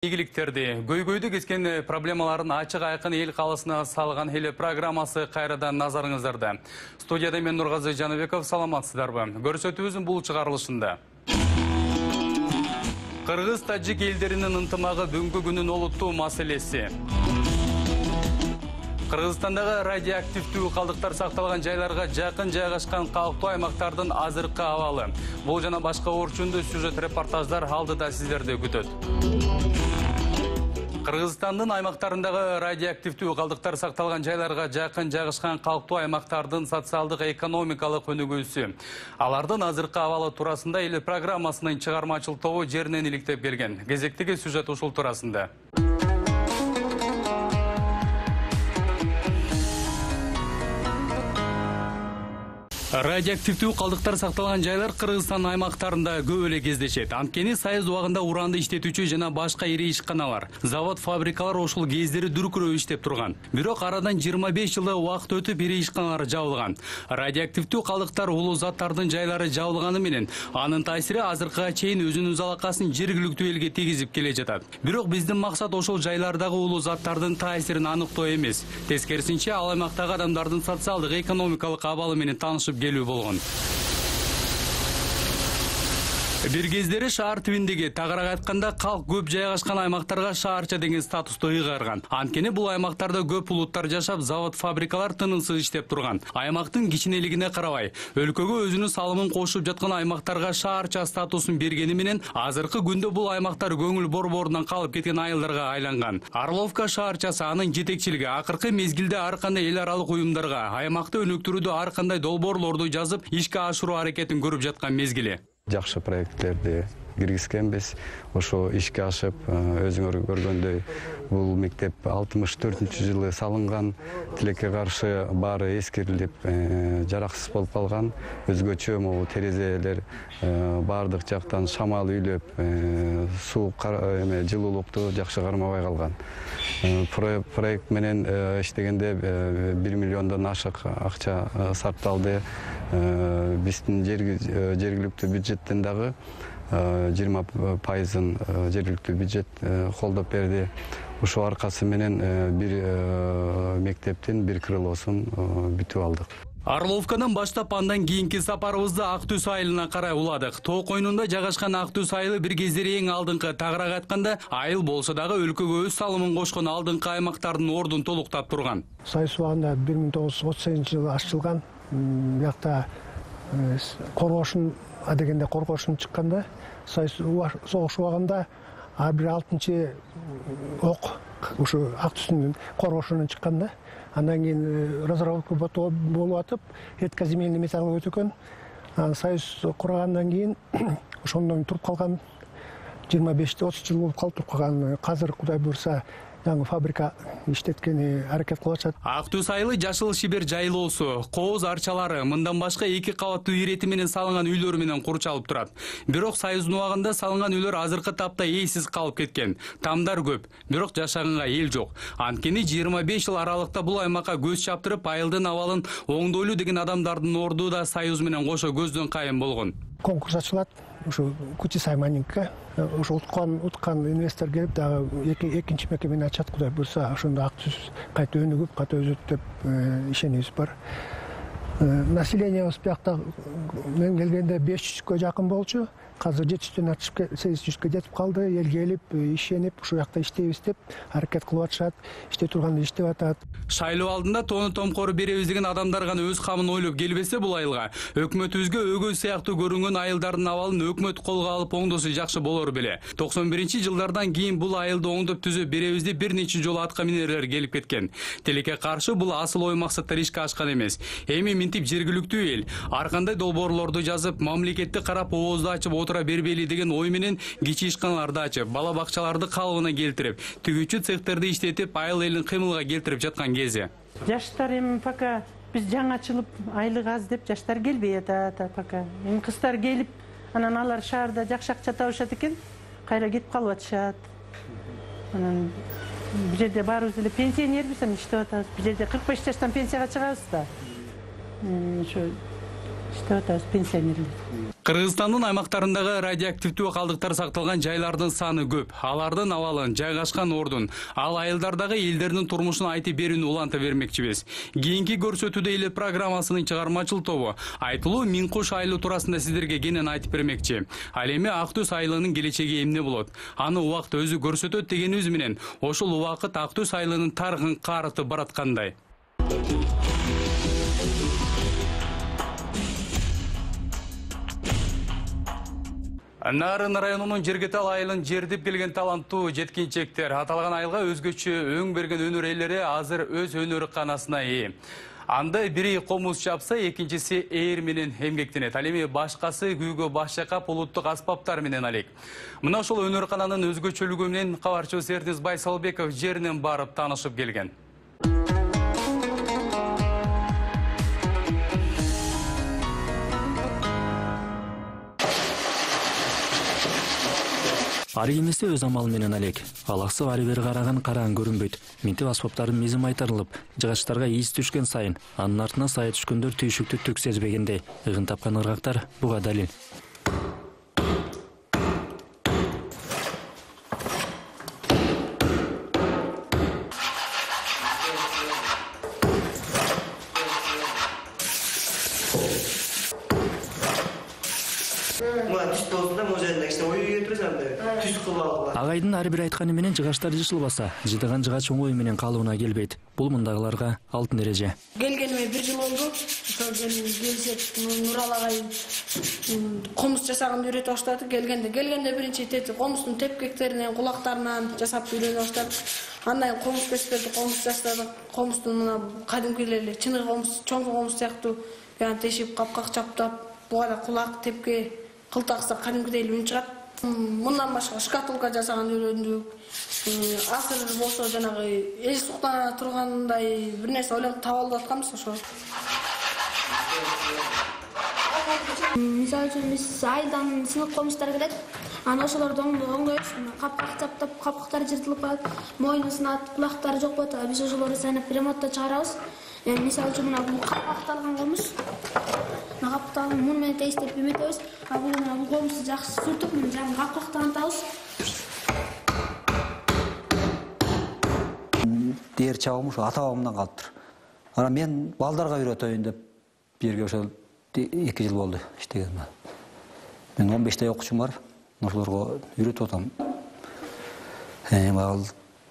Ийгиликтерди, көйгөйдү кескен проблемаларын ачык айкын эл калысына салган эле программасы кайрадан назарыңыздарда. Студияда мен Нургазы Жаныбеков, саламатсыздарбы? Көрсөтүүбүздүн бул чыгарылышында Кыргыз тажик элдеринин ынтымагы бүгүнкү күнүн олуттуу маселеси. Кыргызстандагы радиоактивдүү калдыктар сакталган жайларга жакын жайгашкан калктуу аймактардын азыркы абалы. Бул жана башка орчундуу сюжет репортаждар алдыда сиздерди күтөт. Кыргызстандын аймактарындагы радиоактивдүү калдыктар сакталган жайларга жакын жайгашкан калктуу аймактардын социалдык экономикалык өнүгүүсү. Алардын азыркы абалы туурасында эл программасынын чыгармачыл тобу жеринен иликтеп келген. Кезектеги сюжет ушул туурасында. Радиоактивдүү калдыктар сакталган жайлар Кыргызстан аймактарында көп эле кездешет. Анткени Союз убагында уранды иштетүүчү жана башка ири ишканалар, завод, фабрикалар ошол кездери дүркүрөп иштеп турган. Бирок арадан 25 жылдай убакыт өтүп ири ишканалар жабылган. Радиоактивдүү калдыктар улуу заттардын жайлары жабылганы менен анын таасири азыркыга чейин өзүнүн залакасын жергиликтүү элге тийгизип келе жатат. Бирок биздин максат ошол жайлардагы улуу заттардын таасирин аныктоо эмес. Тескерисинче, ал аймактагы адамдардын социалдык экономикалык абалы менен таанышып келүү болгон. Бир кездери шаар тибиндеги, тагыраак айтканда, калк көп жайгашкан аймактарга шаарча деген статусту ыйгарган. Анткени бул аймактарда көп улуттар жашап, завод, фабрикалар тынымсыз иштеп турган. Аймактын кичинелигине карабай, өлкөгө өзүнүн салымын кошуп жаткан аймактарга шаарча статусун бергени менен азыркы күндө бул аймактар көңүл борборунан калып кеткен айылдарга айланган. Орловка шаарчасы, анын жетекчилиги акыркы мезгилде ар кандай эл аралык уюмдарга аймакты өнүктүрүүдө ар кандай долбоорлорду жазып, ишке ашыруу аракетин көрүп жаткан мезгили. Жакшы проекттерди киргизгенбиз. Ошо ишке ашып, өзүңөр көргөндөй, бул мектеп 64-жылы салынган. Тилекке каршы баары эскирилип, жараксыз болуп калган. Өзгөчө могу терезелер баардык жактан шамал үйлөп, суу жылуулукту жакшы кармабай калган. Проект менен иштегенде 1 миллиондон ашык акча сарпталды. Биздин жергиликтүү бюджеттен дагы 20%-ын жергиликтүү бюджет колдоп берди. Ушул аркасы менен бир мектептин бир крылосун бүтүп алдык. Орловкадан баштап андан кийинки сапарыбызды Ак Түз айылына карай уладык. Тоо койнунда жайгашкан Ак Түз айылы бир кездери эң алдыңкы, тагыраак айтканда, айыл болсо дагы өлкөгө өз салымын кошкон алдыңкы аймактардын ордун толуктап турган. Союз убагында 1938-жылы ачылган. Биякта коргошун адегенде коргошун чыкканда, Союз согуш убагында ар бир 6-чы ок ушу Ак Түздүн коргошунан чыкканда, андан кийин разработка болуп атып, редкоземельный металл өтөкөн. Союз кургандан кийин ошондон туруп калган 25-30 жыл болуп калып туруп калган. Азыр Кудай буйрса жаңы фабрика иштеткени аракет кылып атышат. Ак Түз айылы жашыл шибер жайлоосу, кооз арчалары, мындан башка 2 кабаттуу ирети менен салынган үйлөр менен курчалып турат. Бирок Союздун убагында салынган үйлөр азыркы тапта ээлсиз калып кеткен. Тамдар көп, бирок жашаганга эл жок. Анткени 25 жыл аралыкта бул аймакка көз чаптырып, айылдын абалын оңдойлуу деген адамдардын орду да Союз менен кошо көздөн кайын болгон. Конкурс ачылат. Ушу Кучисай майнингке ушу уткан инвестор келип дагы экинчи мекемени ачат. Кудай буйрса, ошондо Ак Түз кайта өнүгүп, кайта өзөт деп ишенибиз бар. Населениябыз биякта мен келгенде 500-кө жакын болчу. Азыр 700-дөн ачып 800-кө жетип калды. Эл келип, ишенип, ушул жакта иштейбиз деп аракет кылып атышат. Иштей турганда иштеп атат. Шайлоо алдында тоону томкору беребиз деген адамдар гана өз камын ойлоп келбесе бул айылга, өкмөтүбүзгө өгөй сыяктуу көрүнгөн айылдардын абалын өкмөт колго алып оңдосо жакшы болор беле. 91-жылдардан кийин бул айылды оңдоп түзөп беребиз деп бир нече жолу атка минерлер келип кеткен. Тилекке каршы бул асыл ой максаттар ишке ашкан эмес. Эми минтип жергиликтүү эл ар кандай долбоорлорду жазып, мамлекетти карап оозду ачып отура бербейли деген ой менен кичи ишканаларды ачып, бала бакчаларды калыбына келтирип, тигүүчү цехтерди иштетип, айыл элин кыймылга келтирип жаткан кези. Жаштар эми пока биз жаңы ачылып, айлык аз деп жаштар келбей атат пока. Эми кыздар келип, анан алар шаарда жакшы акча табышат экен, кайра кетип калып атышат. Анан бул жерде баарыбыз эле пенсионербиз, иштеп атабыз. Бул жерде 45 жаштан пенсияга чыгабыз да. Ошо иштеп атабыз пенсионерлер. Кыргызстандын аймактарындагы радиоактивдүү калдыктар сакталган жайлардын саны көп. Алардын абалын, жайгашкан ордун, ал айылдардагы элдердин турмушун айтып берүүнү уланта бермекчибиз. Кийинки көрсөтүүдө эле программасынын чыгармачыл тобу айтылуу Миңкуш айылы туурасында сиздерге кенен айтып бермекчи. Ал эми Ак Түз айылынын келечеги эмне болот? Аны убакыт өзү көрсөтөт дегенибиз менен ошол убакыт Ак Түз айылынын тарыхын карытып бараткандай. Нарын районунун Жергетал айылын жердип келген таланттуу жеткинчектер аталган айылга өзгөчө өң берген өнөр ээлери азыр өз өнөрканасына ээ. Анда бири комуз чапса, экинчиси ээр менен эмгектенет. Ал эми башкасы күүгө баш чайкап улуттук аспаптар менен алек. Мына ошол өнөркананын өзгөчөлүгү менен кабарчыбыз Эрдис Байсалбеков жеринен барып таанышып келген. Ары эмесе өз амалы менен алек. Алаксып ары бери караган караан көрүнбөйт. Минтип аспаптардын мизи майтарылып, жыгачтарга ийис түшкөн сайын, анын артына сая түшкөндөр түйшүктү түк сезбегендей. Ыгын тапкан ыргактар буга далил. Агайдын ар бир айтканы менен жыгачтар жышылбаса, жыдаган жыгач оңой менен калыбына келбейт. Бул мындагыларга алтын эреже. Келгениме 1 жыл болду. Ошол келсек Нурал агай комуз жасаганды үйрөтүп баштады. Келгенде биринчи комуздун тепкектеринен, кулактарынан жасап үйрөнүп баштадык. Андан комуз кесперди, комуз жасадык. Комуздун мына кадимки эле чыныгы комуз, чоңку комуз сыяктуу тешип, капкак чаптап, буга да кулак, тепке, кылтакса кадимкидей үн чыгат. Мындан башка шкатулка жасаганды үйрөндүк. Азыр болсо жанагы эч суктана тургандай бир нерсе ойлонуп таап алып атканбыз ошо. Мисалы үчүн биз айылдан сынык комуздар келет. Аны ошолорду оңдойбуз. Капкак чаптап, капкактары жыртылып калат, мойну сынат, кулактары жок болот. Биз ошолорду сайнап ремонтто чыгарабыз. Мисалы үчүн мына бул капакталган комуз. Мына капакталган муну менен тегистеп эметебиз. Бул комузду жакшы сүртүп, жаңы капактантабыз. Дер чабым ошо ата-бабамдан калыптыр. Ана мен балдарга үйрөтөйүн деп бирге ошол 2 жыл болду иштегениме. Мен 15 окуучум бар. Ошолорго үйрөтүп атам.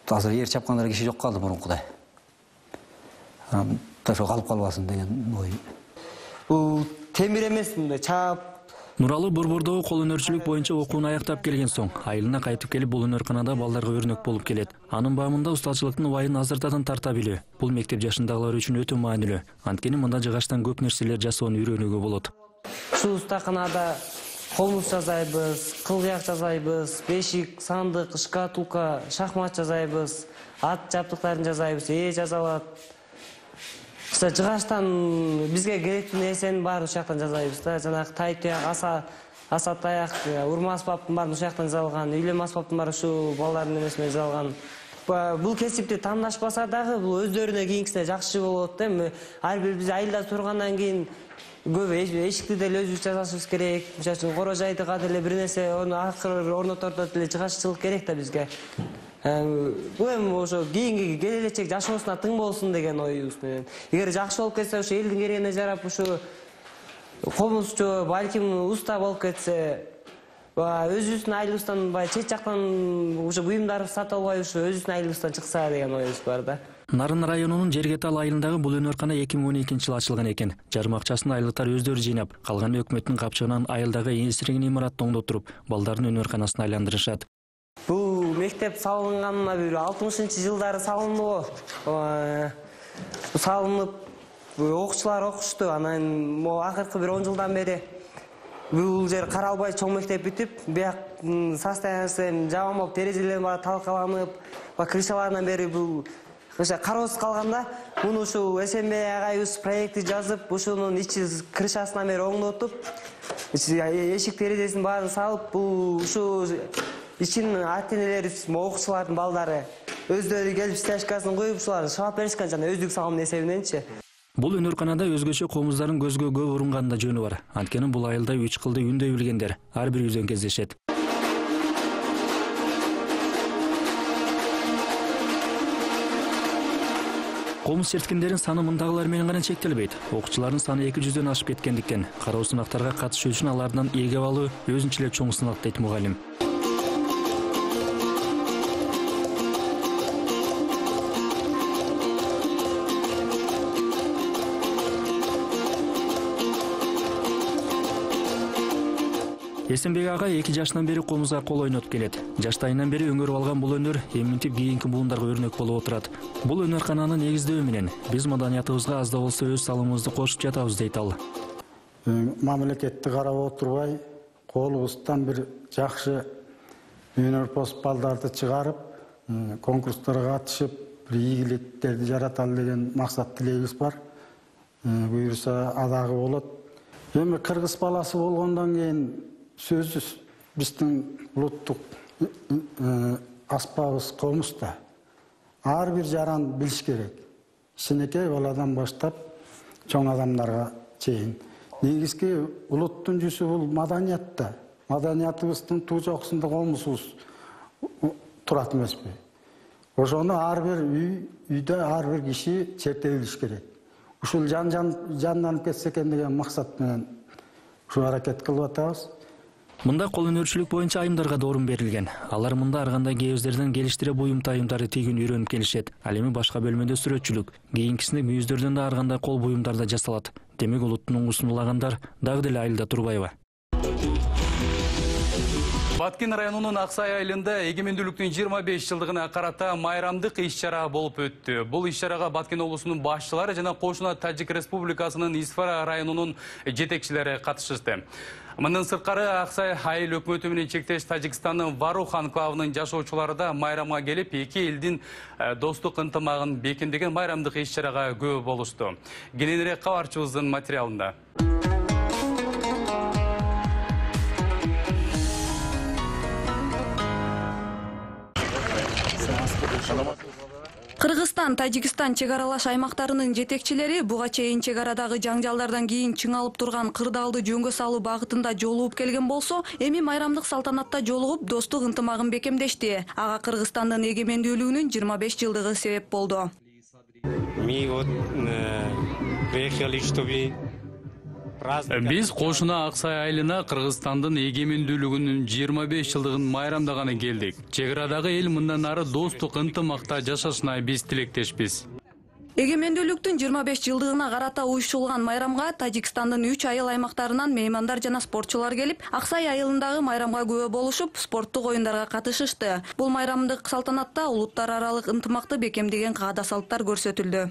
Азыр эр чапкандар киши жок калды мурункудай. Ошо калып калбасын деген ой. Бул темир эмес, мындай чап. Нуралы Борбордогу кол өнөрчүлүк боюнча окууну аяктап келген соң, айылына кайтып келип бул өнөрканада балдарга өрнөк болуп келет. Анын баамында устачылыктын убайын азыртадан тарта билүү. Бул мектеп жашындагылар үчүн өтө маанилүү. Анткени мында жыгачтан көп нерселер жасоону үйрөнүүгө болот. Ушул устаканада комуз жасайбыз, кылгыяк жасайбыз, бешик, сандык, шкатулка, шахмат жасайбыз, ат жабдыктарын жасайбыз, жасалат. Жыгачтан бизге керектүү нерсенин баарын ушул жактан жасайбыз да. Жанагы тай туяк, аса таяк, урма аспаптын баарын ушул жактан жасалган, үйлөм аспаптын баары ушул балдардын эмесинен жасалган. Бул кесипти тандашпаса дагы бул өздөрүнө кийинкисине жакшы болот да. Ар бир биз айылда тургандан кийин көп эшикти деле өзүбүз жасашыбыз керек. Мисалы үчүн коро жайдыга деле бир нерсе акыр орнотордо деле жыгаччылык керек да бизге. Бул эми ошо кийинки келечек жашоосуна тың болсун деген оюбуз менен. Эгер жакшы болуп кетсе, ошо элдин керегине жарап ушу комузчу, балким уста болуп кетсе, өзүбүздүн айылыбыздан чет жактан ушу буюмдар сатып албай ушу өзүбүздүн айылыбыздан чыкса деген оюбуз бар да. Нарын районунун Жергетал айылындагы бул өнөркана 2012-жылы ачылган экен. Жарым акчасын айылдыктар өздөрү жыйнап, калганы өкмөттүн капчыгынан айылдагы эсирген имаратты оңдотуруп, балдардын өнөрканасына айландырышат. Бул мектеп салынганына бир 60-жылдары салынды. Салынып, окуучулар окушту. Анан акыркы бир 10 жылдан бери бул жер каралбай чоң мектеп бүтүп, бияк состояниясы жаман болуп, терезелер баары талкаланып, крышаларынан бери бул кароосуз калганда, муну ушул СМБ агайыбыз проекти жазып, ушунун ичи крышасынан бери оңдотуп, эшик терезесин баарын салып, бул ушул ичин ата-энелер, окуучулардын балдары өздөрү келип стяжкасын коюп, ушуларды шабап беришкен жана өздүк салым эсебиненчи. Бул өнөрканада өзгөчө комуздардын көзгө көп урунгандын да жөнү бар. Анткени бул айылда 3 кылды үндөй билгендер ар бир үйдөн кездешет. Комуз черткендердин саны мындагылар менен гана чектелбейт. Окуучулардын саны 200дөн ашып кеткендиктен кароо сынактарга катышуу үчүн алардан ээге алуу өзүнчө эле чоң сынак дейт мугалим. Эсенбек ага 2 жашынан бери комузга кол ойнотуп келет. Жаштайынан бери өңөрүп алган бул өнөр эминтип кийинки буундарга өрнөк болуп отурат. Бул өнөркананы негиздөө менен биз маданиятыбызга аз да болсо өз салымыбызды кошуп жатабыз дейт ал. Мамлекетти карап отурбай, колубуздан бир жакшы өнөрпос балдарды чыгарып, конкурстарга катышып, бир ийгиликтерди жараталы деген максат тилегибиз бар. Буюрса адагы болот. Эми кыргыз баласы болгондон кийин сөзсүз биздин улуттук аспабыбыз комузда. Ар бир жаран билиш керек. Кичинекей баладан баштап чоң адамдарга чейин. Негизги улуттун жүзү бул маданиятта. Маданиятыбыздын туу жокусунда комузубуз турат эмеспи? Ошону ар бир үйдө ар бир киши чертеп билиш керек. Ушул жанданып кетсе экен деген максат менен ушу аракет кылып атабыз. Мында кол өнөрчүлүк боюнча айымдарга да орун берилген. Алар мында ар кандай кээздерден келиштире буюм тайымдарды тигүүнү үйрөнүп келишет. Ал эми башка бөлмөдө сүрөтчүлүк, кийинкисинде мүйүздөрдөн да ар кандай кол буюмдар да жасалат. Демек улуттун уңгусун улагандар дагы деле айылда турбайбы? Баткен районунун Аксай айылында эгемендүүлүктүн 25 жылдыгына карата майрамдык иш-чара болуп өттү. Бул иш-чарага Баткен облусунун башчылары жана кошуна Тажик Республикасынын Исфара районунун жетекчилери катышышты. Мындан сырткары Аксай айыл өкмөтү менен чектеш Тажикстандын Варух анклавынын жашоочулары да майрамга келип, эки элдин достук ынтымагын бекемдеген майрамдык иш-чарага күбө болушту. Кененирээк кабарчыбыздын материалында. Кыргызстан, Тажикстан чек аралаш аймактарынын жетекчилери буга чейин чек арадагы жаңжалдардан кийин чыңалып турган кырдаалды жөнгө салуу багытында жолугуп келген болсо, эми майрамдык салтанатта жолугуп достук ынтымагын бекемдешти. Ага Кыргызстандын эгемендүүлүгүнүн 25 жылдыгы себеп болду. Биз кошуна Аксай айылына Кыргызстандын эгемендүүлүгүнүн 25 жылдыгын майрамдаганы келдик. Чек арадагы эл мындан ары достук ынтымакта жашашына биз тилектешпиз. Эгемендүүлүктүн 25 жылдыгына карата уюштурулган майрамга Тажикстандын 3 айыл аймактарынан меймандар жана спортчулар келип, Аксай айылындагы майрамга күбө болушуп, спорттук оюндарга катышышты. Бул майрамдык салтанатта улуттар аралык ынтымакты бекемдеген каада салттар көрсөтүлдү.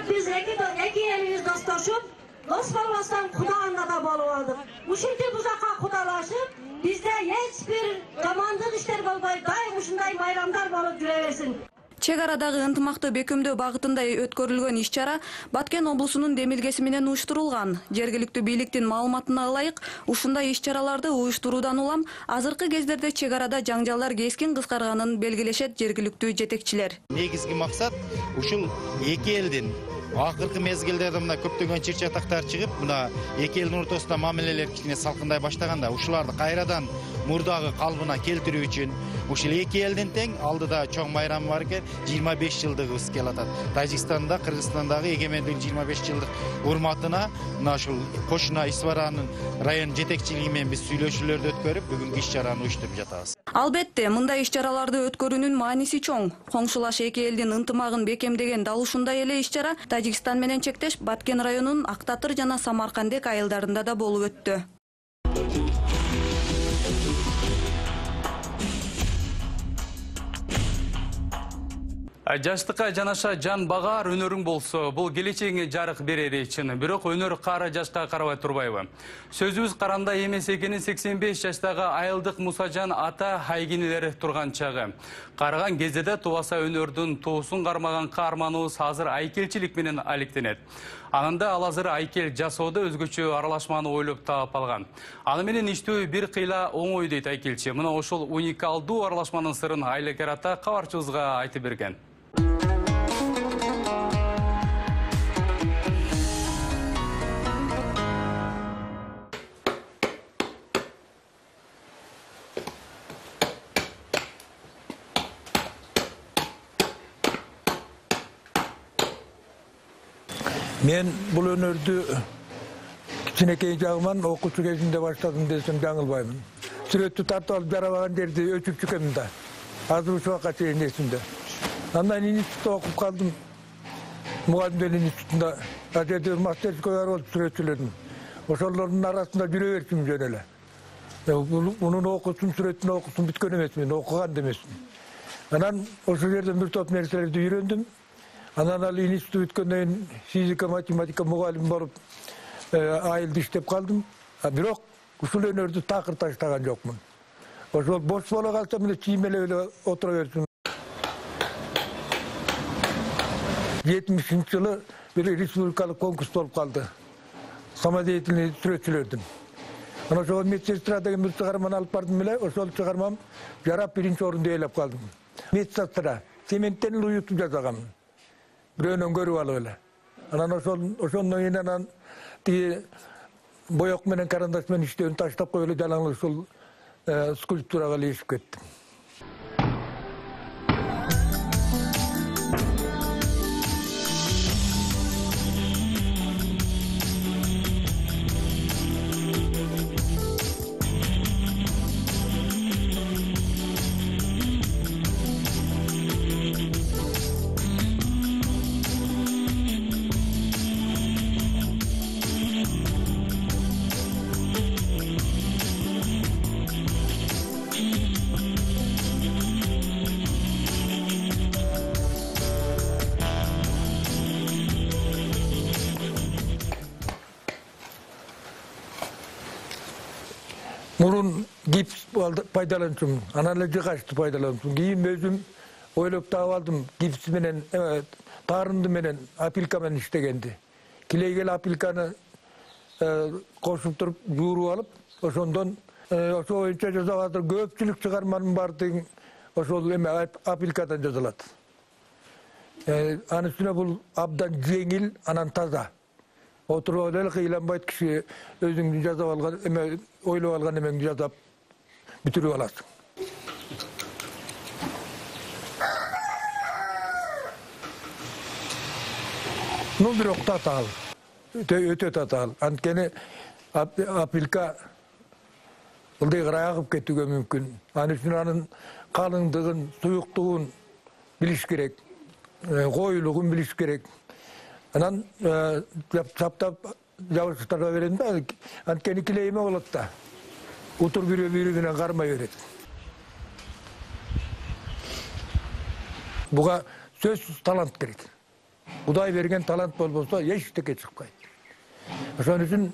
Биз эки элибиз достошуп, дос болбостон кудаганда да болуп алдык. Ушинтип узакка кудалашып, бизде эч бир жамандык иштер болбой, дайым ушундай майрамдар болуп жүрө берсин. Чек арадагы ынтымакты бекемдөө багытында өткөрүлгөн иш-чара Баткен облусунун демилгеси менен уюштурулган. Жергиликтүү бийликтин маалыматына ылайык, ушундай иш-чараларды уюштуруудан улам азыркы кездерде чек арада жаңжалдар кескин кыскарганын белгилешет жергиликтүү жетекчилер. Негизги максат ушул эки элдин акыркы мезгилдерде мына көптөгөн чыр-чатактар чыгып, мына эки элдин ортосунда мамилелер кичине салкындай баштаганда, ушуларды кайрадан мурдагы калыбына келтирүү үчүн ушул эки элдин тең алдыда чоң майрам бар экен, 25 жылдыгыбыз келип атат. Тажикстанда, Кыргызстандагы эгемендүүлүк 25 жылдык урматына мына ушул кошуна Исфаранын район жетекчилиги менен биз сүйлөшүүлөрдү өткөрүп, бүгүнкү иш-чараны уюштуруп жатабыз. Албетте, мындай иш-чараларды өткөрүүнүн мааниси чоң. Коңшулаш эки элдин ынтымагын бекемдеген дал ушундай эле иш-чара Тажикстан менен чектеш Баткен районунун Актатыр жана Самаркандек айылдарында да болуп өттү. Жаштыкка жанаша жан багаар өнөрүң болсо, бул келечегиңе жарык берери чын. Бирок өнөр кара жашка карабай турбайбы? Сөзүбүз каранда эмес экенин 85 жаштагы айылдык Мусажан ата айгинелер турган чагы. Караган кезде да тубаса өнөрдүн туусун кармаган каарманыбыз азыр айкелчилик менен алектенет. Анында ал азыр айкел жасоодо өзгөчө аралашманы ойлоп таап алган. Аны менен иштөө бир кыйла оңой дейт айкелчи. Мына ошол уникалдуу аралашманын сырын Айлакер ата кабарчыбызга айтып берген. Мен бул өнөрдү кичинекей жагыман окуучу кезинде баштадым десем жаңылбаймын. Сүрөттү тартып алып жарабаган жерди өчүп чыкканмын да. Азыр ушул убакка чейин эсимде. Андан институтта окуп калдым. Мугалимдер институтунда жерде мастерскойлор болуп сүрөтчүлөрдүн. Ошолордун арасында жүрө берчүмүн жөн эле. Мунун окуусун, сүрөттүн окуусун бүткөн эмесмин, окуган да эмесмин. Анан ошол жерден бир топ нерселерди үйрөндүм. Анан ал институт бүткөндөн кийин физика, математика мугалим болуп айылда иштеп калдым. Бирок ушул өнөрдү такыр таштаган жокмун. Ошол бош боло калсам эле чиймелеп эле отура берчүмүн. 70-жылы бир республикалык конкурс болуп калды. Самодеятельный сүрөтчүлөрдүн. Анан ошол медсестра деген бир чыгарманы алып бардым эле, ошол чыгармам жарап биринчи орунду ээлеп калдым. Медсестра цементтен уютуп жасаганмын. Бирөөнөн көрүп алып эле. Анан ошондон кийин анан тиги боек менен карандаш менен иштөөнү таштап коюп эле жалаңыз ушул скульптурага илешип кеттим. Мурун гипс пайдаланчумун, анан эле жыгачты пайдаланчумун. Кийин өзүм ойлоп таап алдым, гипс менен, таарынды менен, апилка менен иштегенди. Килейгел апилканы кошуп туруп, жууруп алып, ошондон ошо боюнча жасап атыр. Көпчүлүк чыгарманын баардыгы ошол апилкадан жазылат. Анын үстүнө бул абдан жеңил, анан таза. Отуруп эле кыйланбайт, киши өзүңдү жасап алган, ойлоп алган эмеңди жасап бүтүрүп аласың. Бирок татаал, өтө татаал. Анткени апилка ылдый кырай агып кетүүгө мүмкүн. Анын үчүн анын калыңдыгын, суюктугун билиш керек, коюлугун билиш керек. Анан чаптап жабышыктарга берем да, анткени килейме болот да. Утур бирөө-бирүүнөн кармай берет. Буга сөзсүз талант керек. Кудай берген талант болбосо эчтеке чыкпайт. Ошон үчүн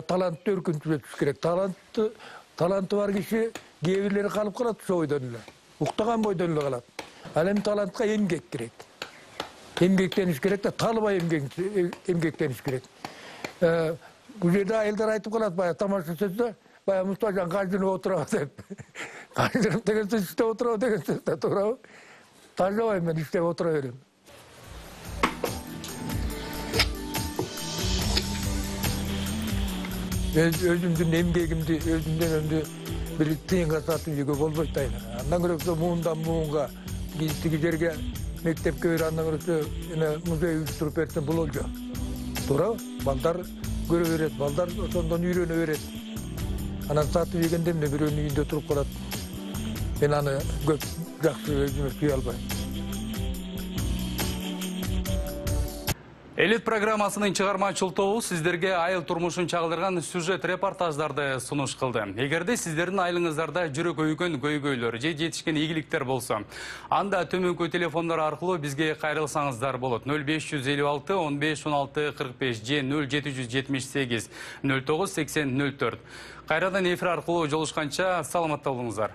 талантты өркүнтүрүш керек. Таланты бар киши кээ бирлери калып калат ошо бойдон эле. Уктаган бойдон эле калат. Ал эми талантка эмгек керек. Эмгектениш керек да, талбай эмгектениш керек. Бул жерде айылдар айтып калат, баягы тамаша сөздө, баягы Мустажан каждынып отурабы деп. Каждынып деген сөз иштеп отурабы деген сөз да туурабы? Тажабайм, мен иштеп отура берем. Өзүмдүн эмгегимди, өзүмдүн өмдү бир тыйынга сатып жегө болбойт да. Андан көрөсө муундан муунга, тиги жерге мектепке бир андан көрөсө музей уюштуруп берсем бололжу. Туурабы? Балдар көрө берет, балдар ошондон үйрөнө берет. Анан сатып жегенде эмне бирөөнүн үйүндө туруп калат. Мен аны көп жакшы өзүмө сүйө албайм. Элит программасынын чыгармачыл тобу сиздерге айыл турмушун чагылдырган сюжет репортаждарды сунуш кылды. Эгерде сиздердин айылыңыздарда жүрөк өйгөн көйгөйлөр же жетишкен ийгиликтер болсо, анда төмөнкү телефондор аркылуу бизге кайрылсаңыздар болот. 0556 15 16 45 же 0778 09 80 04. Кайрадан эфир аркылуу жолушканча саламатта болуңуздар.